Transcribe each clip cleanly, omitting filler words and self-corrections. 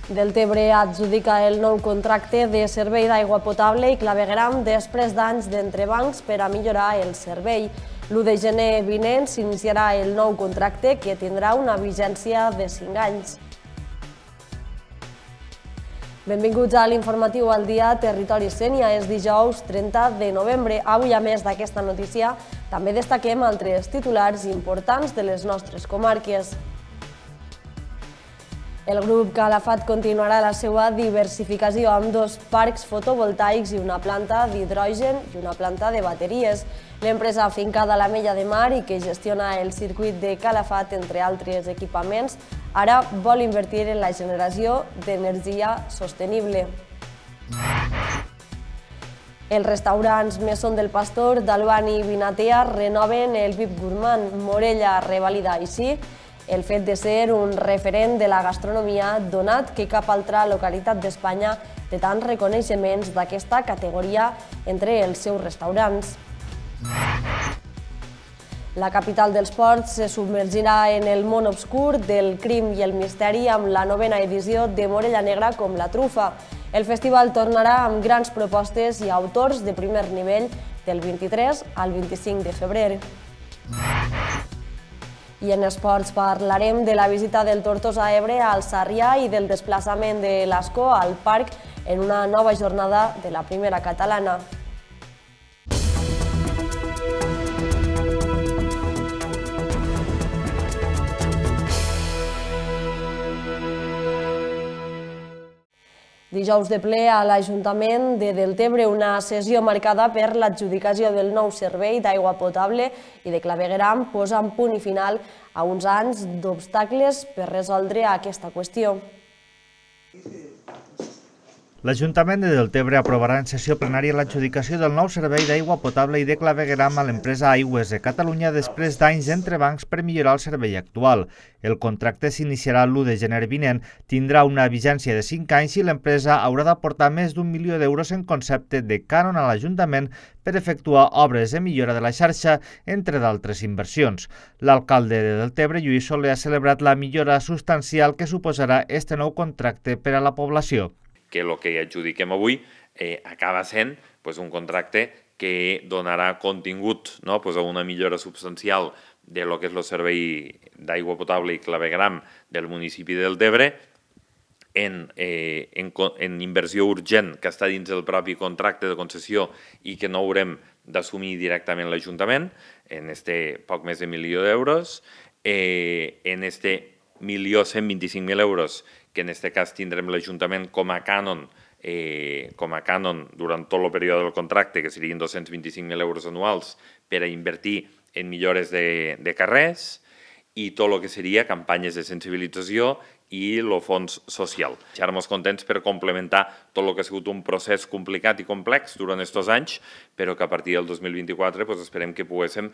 Deltebre adjudica el nou contracte de servei d'aigua potable i clavegueram després d'anys d'entrebancs per a millorar el servei. L'1 de gener vinent s'iniciarà el nou contracte que tindrà una vigència de 5 anys. Benvinguts a l'informatiu al dia Territori Sénia. És dijous 30 de novembre. Avui, a més d'aquesta notícia, també destaquem altres titulars importants de les nostres comarques. El grup Calafat continuarà la seva diversificació amb 2 parcs fotovoltaics i una planta d'hidrogen i una planta de bateries. L'empresa afincada a l'Ametlla de Mar i que gestiona el circuit de Calafat, entre altres equipaments, ara vol invertir en la generació d'energia sostenible. Els restaurants Mesón del Pastor, d'Alban i Vinatea renoven el VIP Gourmand. Morella revalida així el fet de ser un referent de la gastronomia, donat que cap altra localitat d'Espanya té tants reconeixements d'aquesta categoria entre els seus restaurants. La capital dels ports se submergirà en el món obscur del crim i el misteri amb la 9a edició de Morella Negra com la trufa. El festival tornarà amb grans propostes i autors de primer nivell del 23 al 25 de febrer. I en esports parlarem de la visita del Tortosa Ebre al Sarrià i del desplaçament de l'Ascó al parc en una nova jornada de la primera catalana. Dijous de ple a l'Ajuntament de Deltebre, una sessió marcada per l'adjudicació del nou servei d'aigua potable i de clavegueram posant punt i final a uns anys d'obstacles per resoldre aquesta qüestió. L'Ajuntament de Deltebre aprovarà en sessió plenària l'adjudicació del nou servei d'aigua potable i de clavegueram a l'empresa Aigües de Catalunya després d'anys d'entrebancs per millorar el servei actual. El contracte s'iniciarà l'1 de gener vinent, tindrà una vigència de 5 anys i l'empresa haurà d'aportar més d'1 milió d'euros en concepte de cànon a l'Ajuntament per efectuar obres de millora de la xarxa, entre d'altres inversions. L'alcalde de Deltebre, Lluís Soler, ha celebrat la millora substancial que suposarà este nou contracte per a la població. Que el que adjudiquem avui acaba sent un contracte que donarà contingut a una millora substancial de lo que és el servei d'aigua potable i clavegueram del municipi de Deltebre en inversió urgent que està dins del propi contracte de concessió i que no haurem d'assumir directament l'Ajuntament, en este poc més de 1 milió d'euros, en este 1.125.000 euros que en aquest cas tindrem l'Ajuntament com a cànon durant tot el període del contracte, que serien 225.000 euros anuals per a invertir en millores de carrers i tot el que seria campanyes de sensibilització i el fons social. Estarem contents per complementar tot el que ha sigut un procés complicat i complex durant aquests anys, però que a partir del 2024 esperem que poguéssim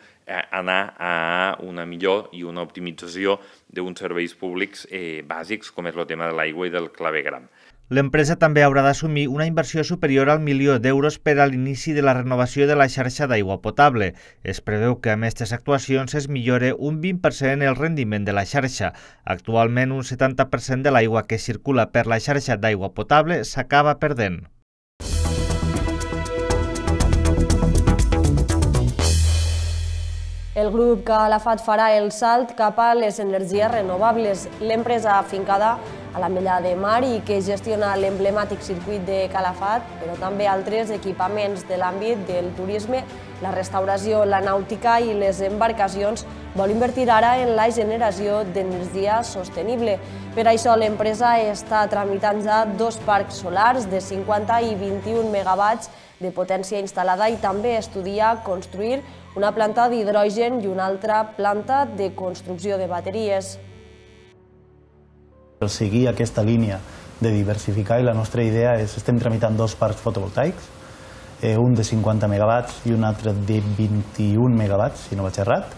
anar a una millor i una optimització d'uns serveis públics bàsics, com és el tema de l'aigua i del clavegueram. L'empresa també haurà d'assumir una inversió superior al 1 milió d'euros per a l'inici de la renovació de la xarxa d'aigua potable. Es preveu que amb aquestes actuacions es millore un 20% el rendiment de la xarxa. Actualment, un 70% de l'aigua que circula per la xarxa d'aigua potable s'acaba perdent. El grup Calafat farà el salt cap a les energies renovables. L'empresa afincada a l'Ametlla de Mar i que gestiona l'emblemàtic circuit de Calafat, però també altres equipaments de l'àmbit del turisme, la restauració, la nàutica i les embarcacions, vol invertir ara en la generació d'energia sostenible. Per això l'empresa està tramitant ja 2 parcs solars de 50 i 21 megawatts de potència instal·lada i també estudia construir una planta d'hidrogen i una altra planta de construcció de bateries. Seguir aquesta línia de diversificar i la nostra idea és, estem tramitant 2 parcs fotovoltaics, un de 50 megawatts i un altre de 21 megawatts, si no vaig errat,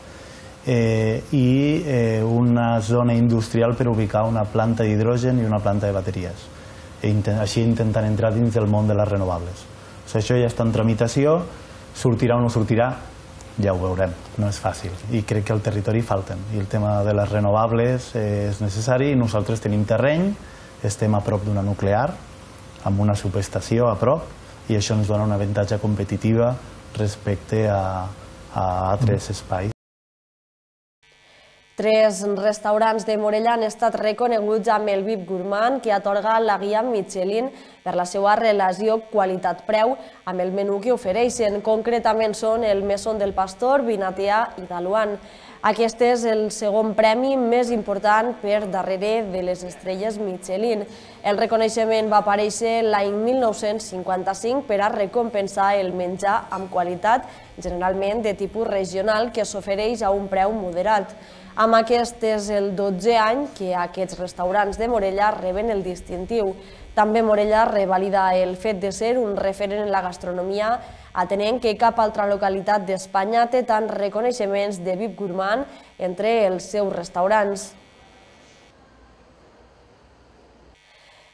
i una zona industrial per ubicar una planta d'hidrogen i una planta de bateries. Així intentant entrar dins del món de les renovables. Això ja està en tramitació, sortirà o no sortirà, ja ho veurem, no és fàcil i crec que al territori falten i el tema de les renovables és necessari i nosaltres tenim terreny, estem a prop d'una nuclear, amb una subestació a prop, i això ens dona una avantatge competitiva respecte a altres espais. 3 restaurants de Morella han estat reconeguts amb el VIP Gourmand que atorga la guia Michelin per la seva relació qualitat-preu amb el menú que ofereixen. Concretament són el Mesón del Pastor, Vinatea i Daluan. Aquest és el segon premi més important per darrere de les estrelles Michelin. El reconeixement va aparèixer l'any 1955 per a recompensar el menjar amb qualitat, generalment de tipus regional, que s'ofereix a un preu moderat. Amb aquest és el 12è any que aquests restaurants de Morella reben el distintiu. També Morella revalida el fet de ser un referent en la gastronomia, atenent que cap altra localitat d'Espanya té tants reconeixements de VIP Gourmand entre els seus restaurants.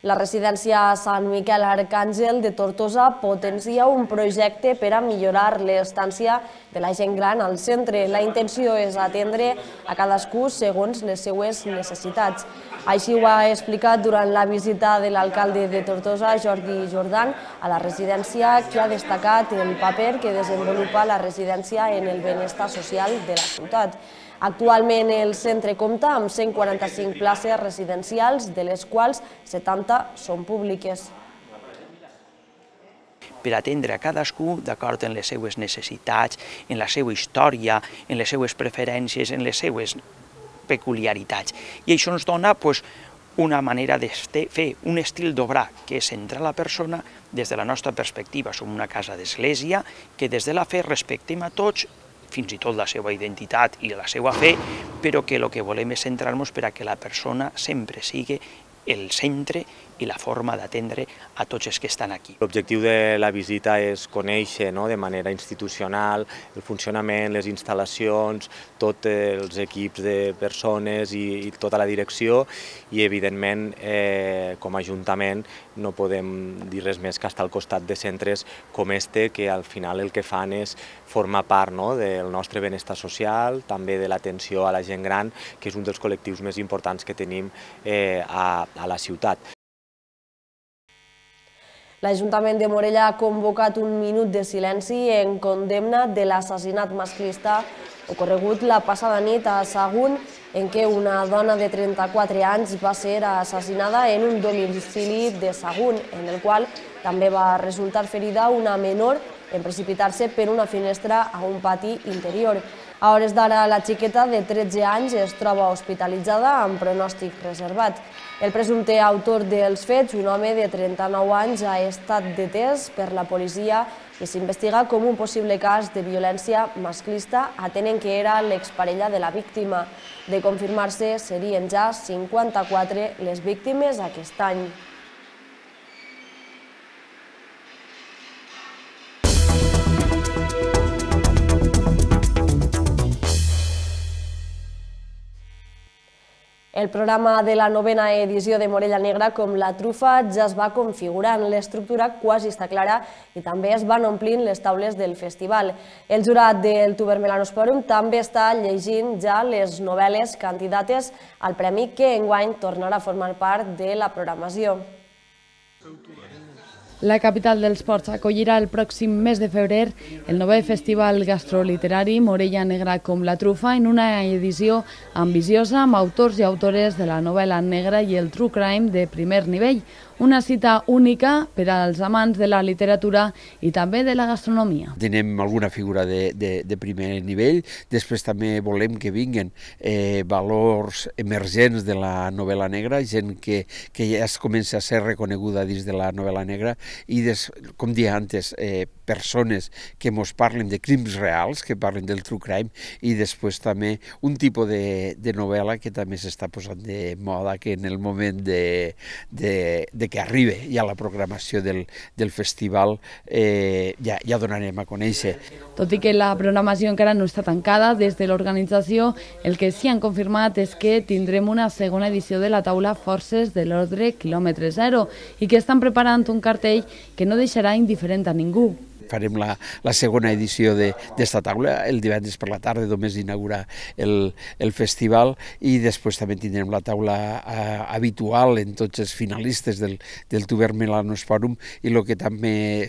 La residència Sant Miquel Arcàngel de Tortosa potencia un projecte per a millorar l'estància de la gent gran al centre. La intenció és atendre a cadascú segons les seues necessitats. Així ho ha explicat durant la visita de l'alcalde de Tortosa, Jordi Jordan, a la residència, que ha destacat el paper que desenvolupa la residència en el benestar social de la ciutat. Actualment el centre compta amb 145 places residencials, de les quals 70 són públiques. Per atendre a cadascú d'acord amb les seues necessitats, en la seva història, en les seues preferències, en les seues peculiaritats. I això ens dona una manera de fer un estil d'obrar que és centrar la persona des de la nostra perspectiva. Som una casa d'església que des de la fe respectem a tots, fins i tot la seva identitat i la seva fe, però que el que volem és centrar-nos per a que la persona sempre sigui el centre i la forma d'atendre a tots els que estan aquí. L'objectiu de la visita és conèixer de manera institucional el funcionament, les instal·lacions, tots els equips de persones i tota la direcció i, evidentment, com a Ajuntament no podem dir res més que estar al costat de centres com este, que al final el que fan és formar part del nostre benestar social, també de l'atenció a la gent gran, que és un dels col·lectius més importants que tenim a la ciutat. L'Ajuntament de Morella ha convocat un minut de silenci en condemna de l'assassinat masclista ocorregut la passada nit a Sagunt, en què una dona de 34 anys va ser assassinada en un domicili de Sagunt, en el qual també va resultar ferida una menor en precipitar-se per una finestra a un pati interior. A hores d'ara, la xiqueta de 13 anys es troba hospitalitzada amb pronòstic reservat. El presumpte autor dels fets, un home de 39 anys, ha estat detès per la policia i s'investiga com un possible cas de violència masclista, atenent que era l'exparella de la víctima. De confirmar-se, serien ja 54 les víctimes aquest any. El programa de la 9a edició de Morella Negra, com la trufa, ja es va configurant. L'estructura quasi està clara i també es van omplint les taules del festival. El jurat del Tubermelanosporum també està llegint ja les novel·les candidates al premi que enguany tornarà a formar part de la programació. La capital dels ports acollirà el pròxim mes de febrer el 9è Festival Gastroliterari Morella Negra com la trufa, en una edició ambiciosa amb autors i autores de la novel·la negra i el true crime de primer nivell. Una cita única per als amants de la literatura i també de la gastronomia. Tenim alguna figura de primer nivell, després també volem que vinguin valors emergents de la novel·la negra, gent que ja es comença a ser reconeguda dins de la novel·la negra i, com deia antes, persones que ens parlen de crims reals, que parlen del true crime, i després també un tipus de novel·la que també s'està posant de moda, que en el moment que arribi ja la programació del festival ja donarem a conèixer. Tot i que la programació encara no està tancada, des de l'organització el que sí han confirmat és que tindrem una segona edició de la taula Forces de l'Ordre Quilòmetre Zero i que estan preparant un cartell que no deixarà indiferent a ningú. farem la segona edició d'esta taula. El divendres per la tarda només inaugura el festival i després també tindrem la taula habitual en tots els finalistes del Tuber Melanos Fòrum, i el que també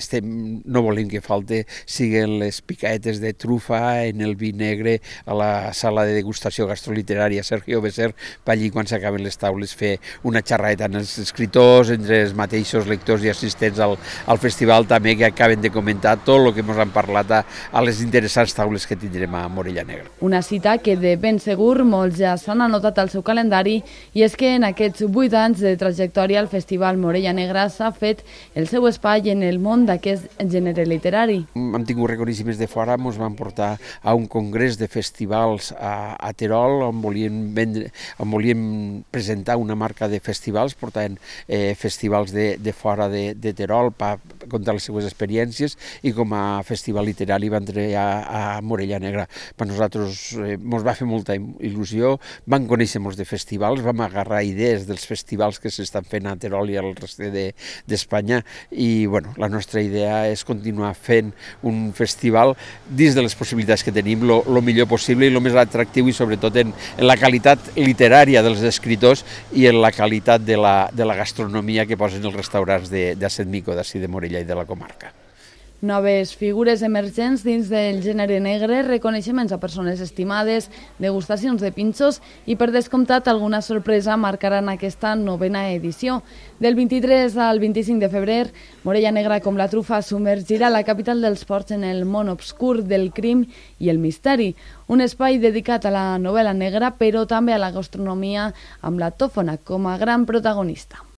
no volem que falte siguen les picaetes de trufa en el vi negre a la sala de degustació gastroliterària Sergio Becer, per allí quan s'acaben les taules fer una xerrada entre els escriptors, entre els mateixos lectors i assistents al festival, també que acaben de comentar tot el que ens han parlat a les interessants taules que tindrem a Morella Negra. Una cita que de ben segur molts ja s'han anotat al seu calendari, i és que en aquests 8 anys de trajectòria el Festival Morella Negra s'ha fet el seu espai en el món d'aquest gènere literari. Hem tingut reconeixements de fora, ens van portar a un congrés de festivals a Terol, on volíem presentar una marca de festivals, portaven festivals de fora de Terol per contar les seues experiències, i com a festival literari van treballar a Morella Negra. Per nosaltres ens va fer molta il·lusió, vam conèixer molts de festivals, vam agarrar idees dels festivals que s'estan fent a Terol i al reste d'Espanya, i la nostra idea és continuar fent un festival dins de les possibilitats que tenim, el millor possible i el més atractiu, i sobretot en la qualitat literària dels escriptors i en la qualitat de la gastronomia que posen els restaurants de Setmico, d'ací de Morella i de la comarca. Noves figures emergents dins del gènere negre, reconeixements a persones estimades, degustacions de pinxos i, per descomptat, alguna sorpresa marcaran aquesta 9a edició. Del 23 al 25 de febrer, Morella Negra com la trufa submergirà la capital dels ports en el món obscur del crim i el misteri. Un espai dedicat a la novel·la negra, però també a la gastronomia, amb la tòfona com a gran protagonista.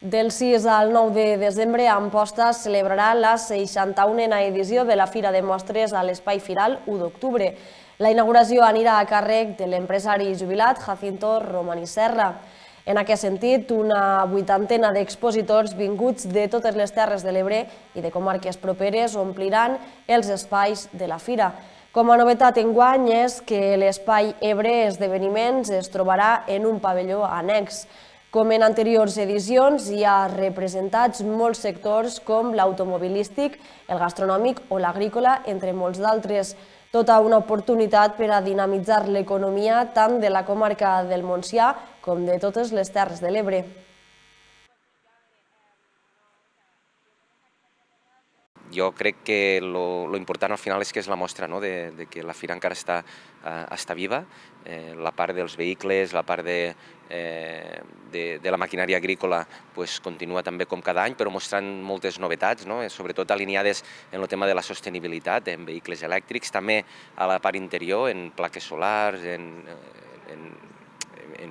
Del 6 al 9 de desembre, Amposta celebrarà la 61a edició de la Fira de Mostres a l'Espai Firal 1 d'octubre. La inauguració anirà a càrrec de l'empresari jubilat Jacinto Romani Serra. En aquest sentit, una 80ena d'expositors vinguts de totes les Terres de l'Ebre i de comarques properes ompliran els espais de la fira. Com a novetat enguany és que l'Espai Ebre Esdeveniments es trobarà en un pavelló annex. Com en anteriors edicions, hi ha representats molts sectors com l'automobilístic, el gastronòmic o l'agrícola, entre molts d'altres. Tota una oportunitat per a dinamitzar l'economia tant de la comarca del Montsià com de totes les Terres de l'Ebre. Jo crec que lo important al final és que és la mostra de que la fira encara està viva. La part dels vehicles, la part de la maquinària agrícola continua també com cada any, però mostrant moltes novetats, sobretot alineades en el tema de la sostenibilitat, en vehicles elèctrics, també a la part interior, en plaques solars, en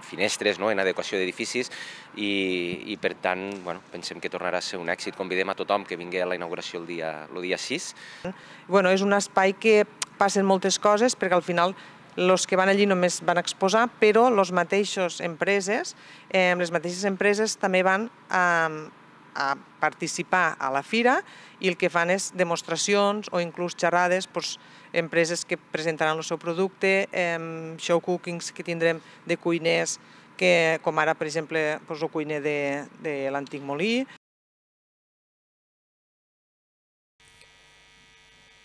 finestres, en adequació d'edificis, i per tant pensem que tornarà a ser un èxit. Convidem a tothom que vingui a la inauguració el dia 6. És un espai que passen moltes coses, perquè al final els que van allí només van exposar, però les mateixes empreses també van a participar a la fira, i el que fan és demostracions o inclús xerrades, empreses que presentaran el seu producte, show cookings que tindrem de cuiners, com ara, per exemple, el cuiner de l'antic molí.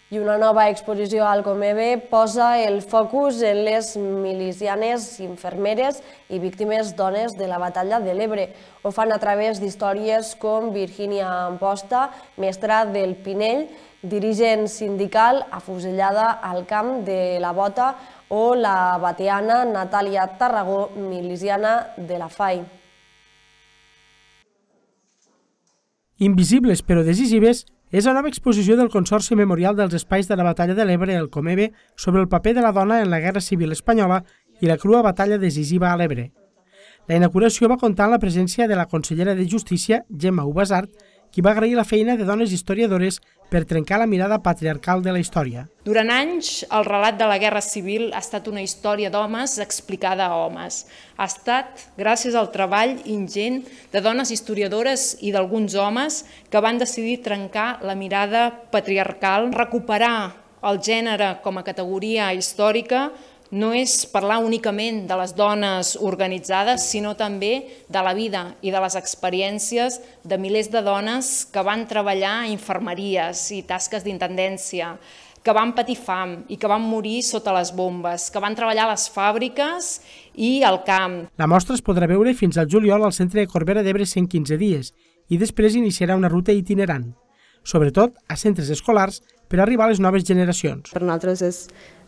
I una nova exposició al Comebe posa el focus en les milicianes, infermeres i víctimes dones de la batalla de l'Ebre. Ho fan a través d'històries com Virgínia Amposta, mestra del Pinell, dirigent sindical afusellada al camp de la Bota, o la bateana Natàlia Tarragó, miliciana de la FAI. Invisibles però decisives és la nova exposició del Consorci Memorial dels Espais de la Batalla de l'Ebre, el Comebe, sobre el paper de la dona en la Guerra Civil Espanyola i la crua batalla decisiva a l'Ebre. La inauguració va comptar amb la presència de la consellera de Justícia, Gemma Ubasart, qui va agrair la feina de dones historiadores per trencar la mirada patriarcal de la història. Durant anys, el relat de la Guerra Civil ha estat una història d'homes explicada a homes. Ha estat gràcies al treball ingent de dones historiadores i d'alguns homes que van decidir trencar la mirada patriarcal, recuperar el gènere com a categoria històrica no és parlar únicament de les dones organitzades, sinó també de la vida i de les experiències de milers de dones que van treballar a infermeries i tasques d'intendència, que van patir fam i que van morir sota les bombes, que van treballar a les fàbriques i al camp. La mostra es podrà veure fins al juliol al Centre de Corbera d'Ebre 115 dies i després iniciarà una ruta itinerant, sobretot a centres escolars per arribar a les noves generacions. Per nosaltres és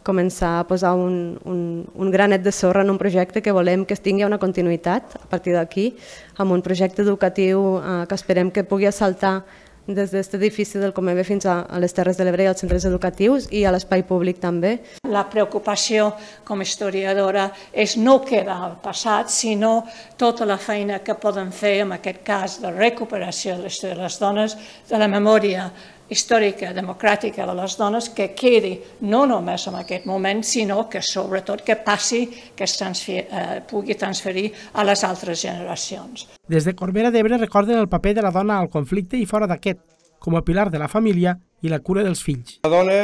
començar a posar un granet de sorra en un projecte que volem que tingui una continuïtat a partir d'aquí, amb un projecte educatiu que esperem que pugui assaltar des d'aquest edifici del Comebe fins a les Terres de l'Ebre i als centres educatius i a l'espai públic també. La preocupació com a historiadora és no quedar al passat, sinó tota la feina que poden fer, en aquest cas de recuperació de la història de les dones, de la memòria històrica, democràtica de les dones, que quedi no només en aquest moment, sinó que sobretot que passi, que es pugui transferir a les altres generacions. Des de Corbera d'Ebre recorden el paper de la dona al conflicte i fora d'aquest, com a pilar de la família i la cura dels fills. La dona,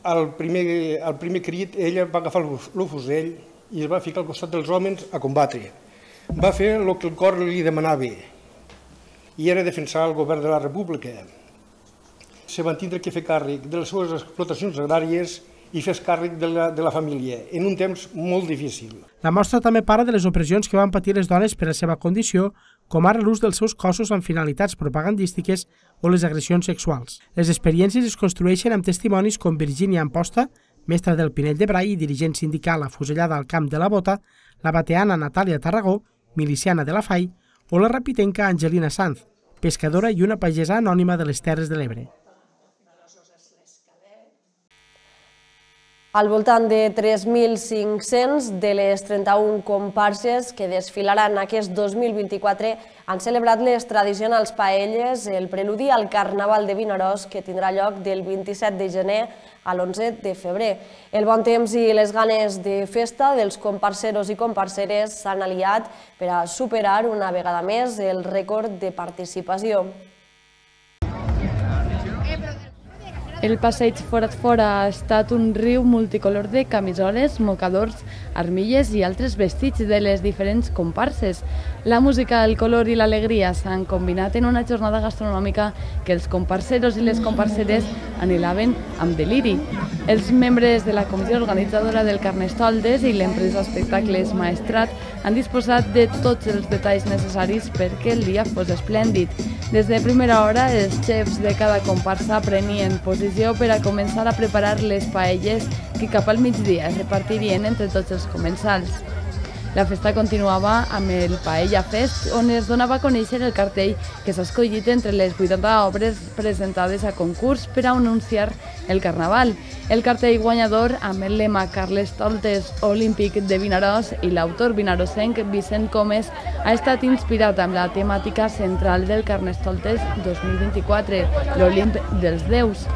al primer crit, ella va agafar el fusell i es va ficar al costat dels homes a combatre. Va fer el que el cor li demanava i era defensar el govern de la República. Se van tindre que fer càrrec de les seves explotacions agràries i fer càrrec de la família, en un temps molt difícil. La mostra també parla de les opressions que van patir les dones per la seva condició, com ara l'ús dels seus cossos amb finalitats propagandístiques o les agressions sexuals. Les experiències es construeixen amb testimonis com Virgínia Amposta, mestra del Pinell de Brai i dirigent sindical afusellada al camp de la Bota, la bateana Natàlia Tarragó, miliciana de la FAI, o la rapitenca Angelina Sanz, pescadora i una pagesa anònima de les Terres de l'Ebre. Al voltant de 3.500 de les 31 comparses que desfilaran aquest 2024 han celebrat les tradicionals paelles, el preludi al Carnaval de Vinaròs, que tindrà lloc del 27 de gener a l'11 de febrer. El bon temps i les ganes de festa dels comparseros i comparseres s'han aliat per a superar una vegada més el rècord de participació. El passeig Forat Fora ha estat un riu multicolor de camisoles, mocadors, armilles i altres vestits de les diferents comparses. La música, el color i l'alegria s'han combinat en una jornada gastronòmica que els comparseros i les comparseres anhelaven amb deliri. Els membres de la comissió organitzadora del Carnestoltes i l'empresa Espectacles Maestrat han disposat de tots els detalls necessaris perquè el dia fos esplèndid. Des de primera hora, els xefs de cada comparsa prenien posició per a començar a preparar les paelles que cap al migdia es repartirien entre tots els comensals. La festa continuava amb el Paella Fest, on es donava a conèixer el cartell que s'ha escollit entre les 80 obres presentades a concurs per a anunciar el Carnaval. El cartell guanyador, amb el lema Carnestoltes Olímpic de Vinaròs i l'autor vinarosenc Vicent Comes, ha estat inspirat amb la temàtica central del Carnestoltes 2024, l'Olimp dels Déus.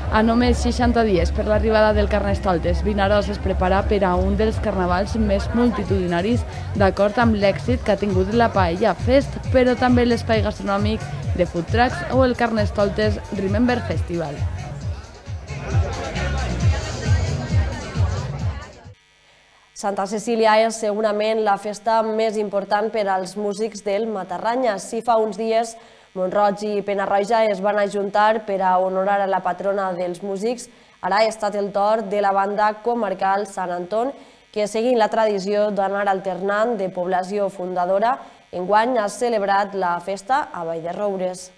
A només 60 dies per l'arribada del Carnestoltes, Vinaròs es prepara per a un dels carnavals més multitudinaris d'acord amb l'èxit que ha tingut la Paella Fest, però també l'espai gastronòmic de food trucks o el Carnestoltes Remember Festival. Santa Cecília és segurament la festa més important per als músics del Matarranya. Si fa uns dies Mont-roig i Penarroja es van ajuntar per a honorar a la patrona dels músics, ara ha estat el torn de la banda comarcal Sant Anton, que seguint la tradició d'anar alternant de població fundadora, enguany ha celebrat la festa a Vall-de-roures.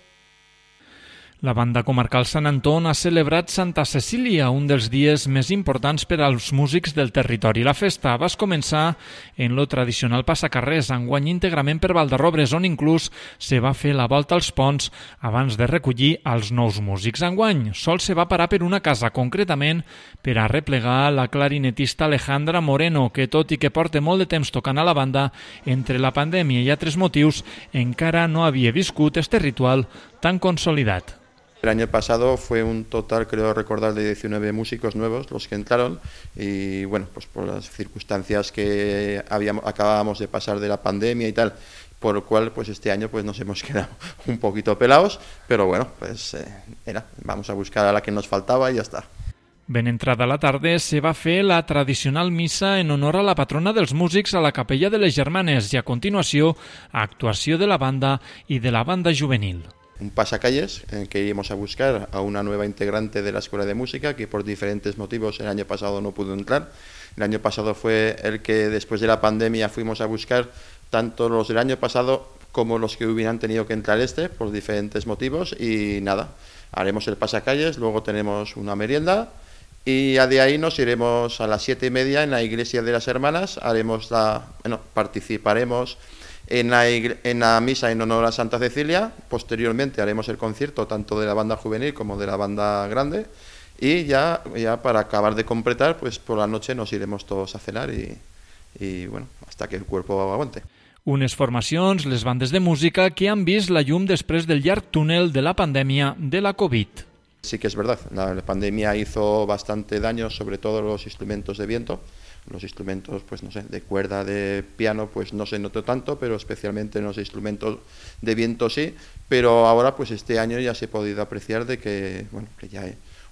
La banda comarcal Sant Anton ha celebrat Santa Cecília, un dels dies més importants per als músics del territori. La festa va començar en lo tradicional passacarrers, enguany íntegrament per Vall-de-roures, on inclús se va fer la volta als ponts abans de recollir els nous músics. Enguany sol se va parar per una casa, concretament per a replegar la clarinetista Alejandra Moreno, que tot i que porta molt de temps tocant a la banda, entre la pandèmia i altres motius, encara no havia viscut este ritual tan consolidat. El año pasado fue un total, creo recordar, de 19 músicos nuevos los que entraron y bueno, pues por las circunstancias que acabábamos de pasar de la pandemia y tal, por lo cual pues este año pues nos hemos quedado un poquito pelados, pero bueno, pues vamos a buscar a la que nos faltaba y ya está. Ben entrada la tarda se va fer la tradicional missa en honor a la patrona dels músics a la Capella de les Germanes i a continuació actuació de la banda i de la banda juvenil. Un pasacalles en que iremos a buscar a una nueva integrante de la Escuela de Música que por diferentes motivos el año pasado no pudo entrar. El año pasado fue el que después de la pandemia fuimos a buscar tanto los del año pasado como los que hubieran tenido que entrar por diferentes motivos y nada, haremos el pasacalles, luego tenemos una merienda y de ahí nos iremos a las 7:30 en la Iglesia de las Hermanas, participaremos en la misa en honor a Santa Cecilia, posteriormente haremos el concierto tanto de la banda juvenil como de la banda grande y ya para acabar de completar, pues por la noche nos iremos todos a cenar y bueno, hasta que el cuerpo aguante. Unes formacions, les bandes de música, que han vist la llum després del llarg túnel de la pandèmia de la Covid. Sí que es verdad, la pandemia hizo bastante daño, sobre todo los instrumentos de viento. Los instrumentos, pues no sé, de cuerda, de piano, pues no se notó tanto, pero especialmente en los instrumentos de viento sí. Pero ahora, pues este año ya se ha podido apreciar de que, bueno, que ya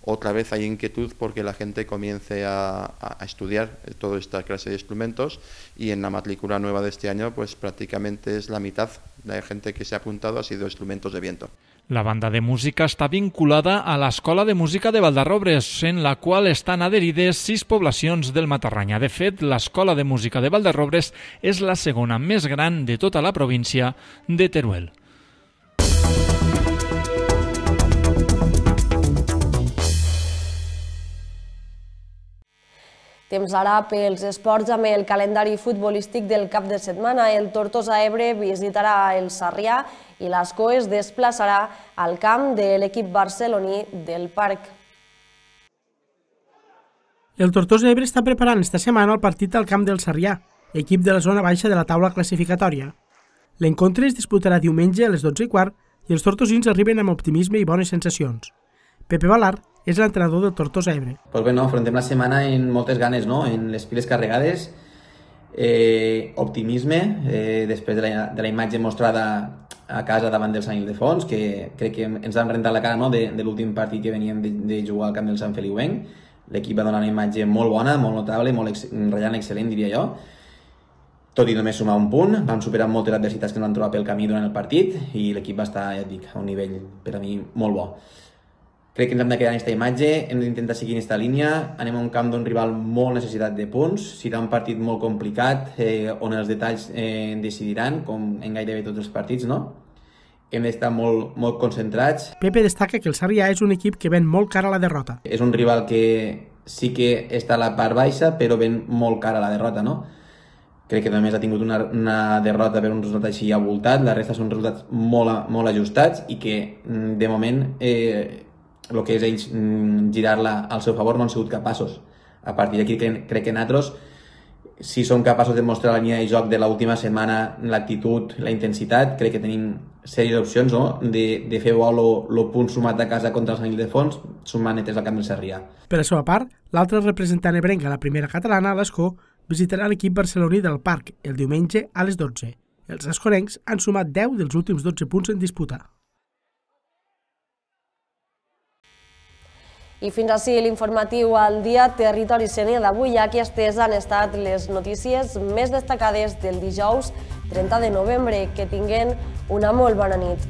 otra vez hay inquietud porque la gente comience a estudiar toda esta clase de instrumentos y en la matrícula nueva de este año, pues prácticamente es la mitad de la gente que se ha apuntado ha sido instrumentos de viento. La banda de música està vinculada a l'Escola de Música de Valderrobres, en la qual estan adherides 6 poblacions del Matarranya. De fet, l'Escola de Música de Valderrobres és la segona més gran de tota la província de Teruel. Temps ara pels esports amb el calendari futbolístic del cap de setmana. El Tortosa Ebre visitarà el Sarrià i l'Ascó es desplaçarà al camp de l'equip barceloní del Parc. El Tortosa Ebre està preparant esta setmana el partit al camp del Sarrià, equip de la zona baixa de la taula classificatòria. L'encontre es disputarà diumenge a les 12:15 i els tortosins arriben amb optimisme i bones sensacions. Pepe Balart és l'entrenador del Tortosa Ebre. Pues bé, afrontem la setmana amb moltes ganes, amb les piles carregades, optimisme, després de la imatge mostrada a casa davant del Sant Ildefons, que crec que ens han rentat la cara de l'últim partit que veníem de jugar al camp del Sant Feliuenc. L'equip va donar una imatge molt bona, molt notable, molt ratllant excel·lent, diria jo. Tot i només sumar un punt, vam superar moltes adversitats que ens van trobar pel camí durant el partit i l'equip va estar, ja et dic, a un nivell per a mi molt bo. Crec que ens hem de quedar en aquesta imatge, hem d'intentar seguir en aquesta línia, anem a un camp d'un rival molt necessitat de punts, serà un partit molt complicat, on els detalls decidiran, com en gairebé tots els partits, no? Hem d'estar molt concentrats. Pepe destaca que el Sarrià és un equip que ven molt cara a la derrota. És un rival que sí que està a la part baixa, però ven molt cara a la derrota, no? Crec que només ha tingut una derrota per un resultat així avoltat, la resta són resultats molt ajustats i que, de moment, el que és ells girar-la al seu favor no han sigut capaços. A partir d'aquí crec que nosaltres, si som capaços de mostrar la línia de joc de l'última setmana, l'actitud, la intensitat, crec que tenim sèries d'opcions de fer bo el punt sumat a casa contra el Sant Ildefons, sumant netes al camp del Sarrià. Per la seva part, l'altre representant ebrenc a la primera catalana, l'Escó, visitarà l'equip barceloní del Parc el diumenge a les 12. Els escorencs han sumat 10 dels últims 12 punts en disputa. I fins ací l'informatiu al dia Territori Sénia d'avui. Aquestes han estat les notícies més destacades del dijous 30 de novembre. Que tinguen una molt bona nit.